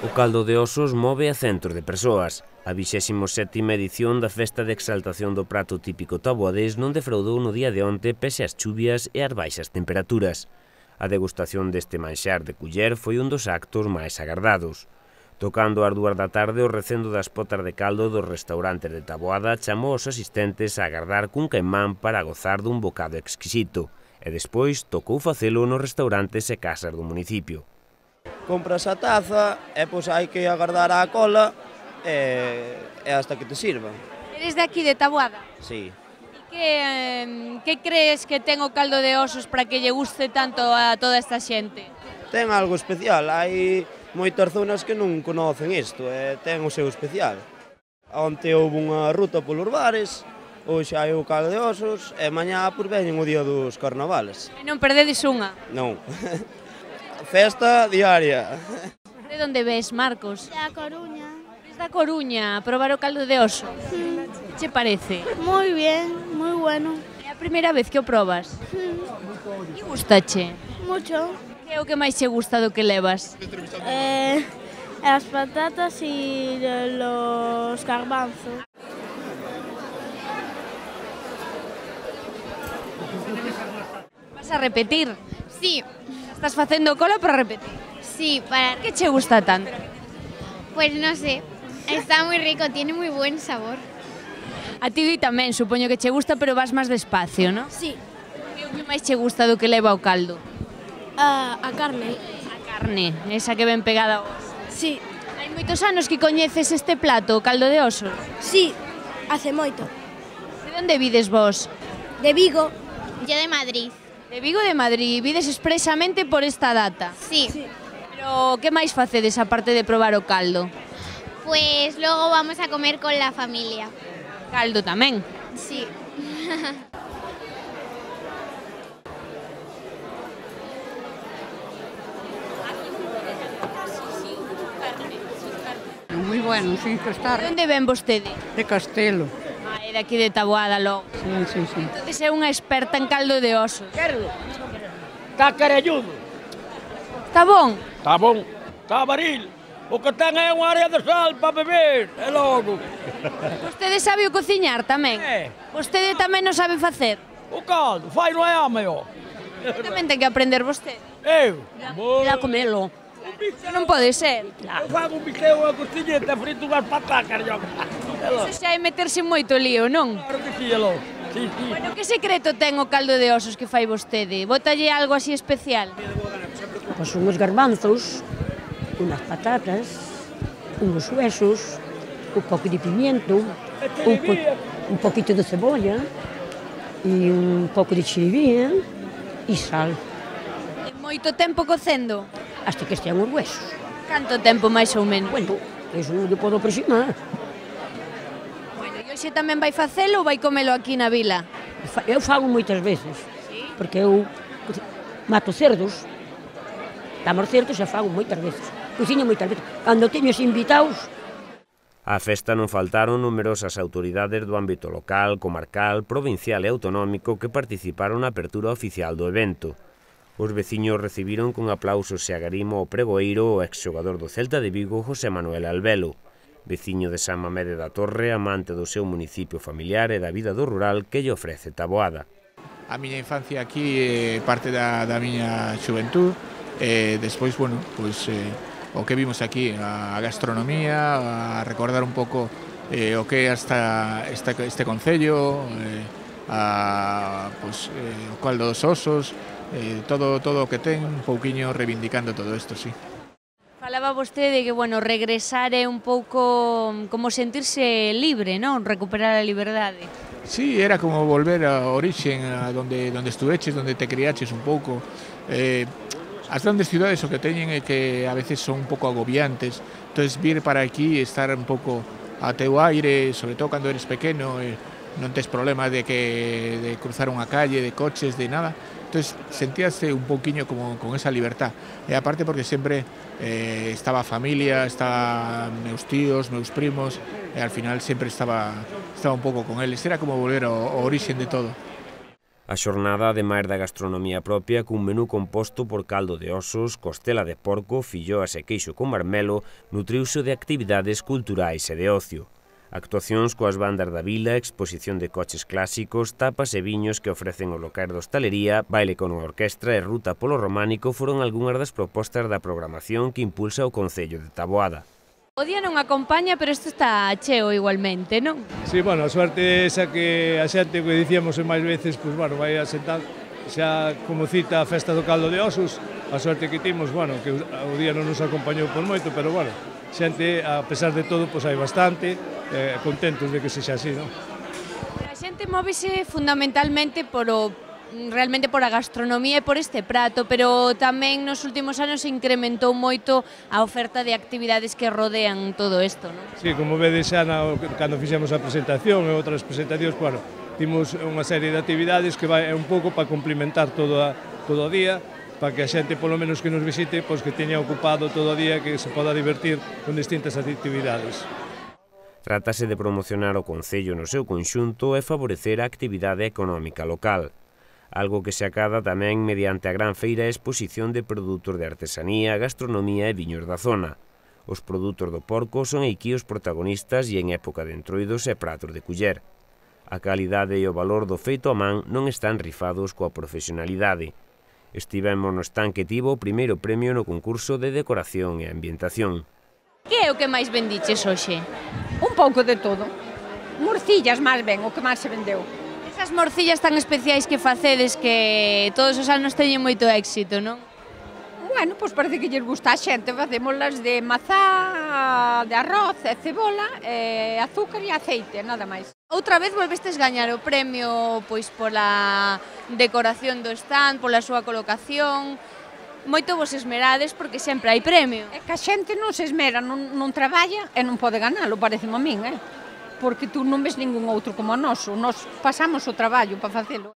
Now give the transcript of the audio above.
O caldo de osos move a centros de persoas. A 27ª edición da festa de exaltación do prato típico taboadés non defraudou no día de onte pese ás chuvias e ás baixas temperaturas. A degustación deste manxar de culler foi un dos actos máis agardados. Tocando ás 2 da tarde, o recendo das potas de caldo dos restaurantes de Taboada chamou aos asistentes a agardar cun caimán para gozar dun bocado exquisito, e despois tocou facelo nos restaurantes e casas do municipio. Compras a taza e pois hai que agardar á cola e hasta que te sirvan. Eres de aquí, de Taboada? Sí. Que crees que ten o caldo de osos para que lle guste tanto a toda esta xente? Ten algo especial, hai moitas zonas que non conocen isto e ten o seu especial. Onte houve unha ruta polos bares, hoxe hai o caldo de osos e mañá por veñen o día dos carnavales. E non perdedes unha? Non. Festa diaria. De onde ves, Marcos? Da Coruña. Desde a Coruña, a probar o caldo de oso. Que che parece? Muy bien, muy bueno. É a primeira vez que o probas? Que gustache? Mucho. Que é o que máis che gusta do que levas? Las patatas y los garbanzos. Vas a repetir? Sí, Estás facendo cola para repetir? sí, para... Que che gusta tanto? Pues no sé, está muy rico, tiene muy buen sabor. A ti tamén, supoño que che gusta, pero vas máis despacio, non? Sí. Que é o que máis che gusta do que leva o caldo? A carne. A carne, esa que ven pegada ao oso. Sí. Hai moitos anos que coñeces este plato, o caldo de osos. Sí, hace moito. De onde vides vos? De Vigo. Yo de Madrid. De Vigo de Madrid, vides expresamente por esta data. Sí. Pero que máis facedes aparte de probar o caldo? Pues luego vamos a comer con la familia. Caldo tamén. Sí. Moi bueno, sí, que está De onde ven vostede? de Castelo. Ah, é de aquí de Taboada logo. Sí. Entonces é unha experta en caldo de osos. Está caralludo, Está bon? está bon, está varil. O que ten é unha área de sal para beber, é logo. Vostede sabe o cociñar tamén? Vostede tamén non sabe facer? O caldo, fai non é ameo. Tamén ten que aprender vostede. Eu? Ir a comelo. Iso non pode ser. Eu fago un bistec, unha costilleta, frito unhas patacas, yo. Iso xa é meterse en moito lío, non? Claro que sí, é logo. Sí. Bueno, que secreto ten o caldo de osos que fai vostede? Bótalle algo así especial? Pois unhos garbanzos, unas patatas, unos huesos, un pouco de pimiento, un poquito de cebolla e un pouco de chiribía e sal, En moito tempo cocendo? hasta que estean os huesos. Canto tempo máis ou menos? Bueno, eso non lle podo aproximar. Bueno, e hoxe tamén vai facelo ou vai comelo aquí na vila? Eu fago moitas veces, porque eu mato cerdos, damos cerdos e fago moitas veces. Cociño moitas veces. Cando teño os invitados, Á festa non faltaron numerosas autoridades do ámbito local, comarcal, provincial e autonómico que participaron na apertura oficial do evento. Os veciños recibiron con aplausos e agarimo o pregoeiro o exxogador do Celta de Vigo, José Manuel Albelo, veciño de San Mamede da Torre, amante do seu municipio familiar e da vida do rural que lle ofrece Taboada. A miña infancia aquí parte da miña xuventud, despois, bueno, pois o que vimos aquí, a gastronomía, a recordar un pouco o que é este concello, o caldo dos osos, todo o que ten, un pouquiño reivindicando todo isto, sí. Falaba vostede de que, bueno, regresar é un pouco como sentirse libre, non? Recuperar a liberdade. Sí, era como volver a origen, a donde estuveches, donde te criaches un pouco. As grandes ciudades o que teñen é que a veces son un pouco agobiantes, entonces vir para aquí e estar un pouco a teu aire, sobre todo cando eres pequeno, non tes problema de cruzar unha calle, de coches, de nada. Entonces sentíase un pouquiño como con esa libertad. E aparte porque sempre estaba a familia, estaba meus tíos, meus primos, e al final sempre estaba un pouco con eles. Era como volver ao orixen de todo. A xornada, ademais da gastronomía propia, cun menú composto por caldo de osos, costela de porco, filloas e queixo con marmelo, nutriuse de actividades culturais e de ocio. Actuacións coas bandas da vila, exposición de coches clásicos, tapas e viños que ofrecen o locais de hostalería, baile con orquestra e ruta polo románico foron algunhas das propostas da programación que impulsa o Concello de Taboada. O día non acompaña, pero isto está cheo igualmente, non? Sí, bueno, a suerte esa que a xente que dicíamos máis veces, pois, bueno, vai a sentar xa como cita a festa do caldo de osos, a suerte que timos, bueno, que o día non nos acompañou por moito, pero, bueno, xente, a pesar de todo, pois hai bastante, contentos de que sexa así, non? A xente móvese fundamentalmente realmente por a gastronomía e por este prato, pero tamén nos últimos anos se incrementou moito a oferta de actividades que rodean todo isto, non? Sí, como vedes xa cando fixemos a presentación e outras presentacións, bueno, timos unha serie de actividades que vai un pouco para complementar todo o día, para que a xente, polo menos que nos visite, pois que teña ocupado todo o día, que se poda divertir con distintas actividades. Trátase de promocionar o Concello no seu conxunto e favorecer a actividade económica local, algo que se acada tamén mediante a gran feira e exposición de produtos de artesanía, gastronomía e viños da zona. Os produtos do porco son aquí os protagonistas e en época de entroidos e pratos de culler. A calidade e o valor do feito a man non están rifados coa profesionalidade. Estivemos no stand que tivo o primeiro premio no concurso de decoración e ambientación. Que é o que máis vendiches hoxe? Un pouco de todo. Morcillas máis ben, o que máis se vendeu. Esas morcillas tan especiais que facedes que todos os anos teñen moito éxito, non? Bueno, pois parece que lles gusta a xente, facémolas de mazá, de arroz e cebola, azúcar e aceite, nada máis. Outra vez volvestes gañar o premio pois pola decoración do stand, pola súa colocación. Moito vos esmerades porque sempre hai premio. É que a xente non se esmera, non traballa e non pode ganalo, pareceme a min, porque tú non ves ningún outro como o noso, nos pasamos o traballo para facelo.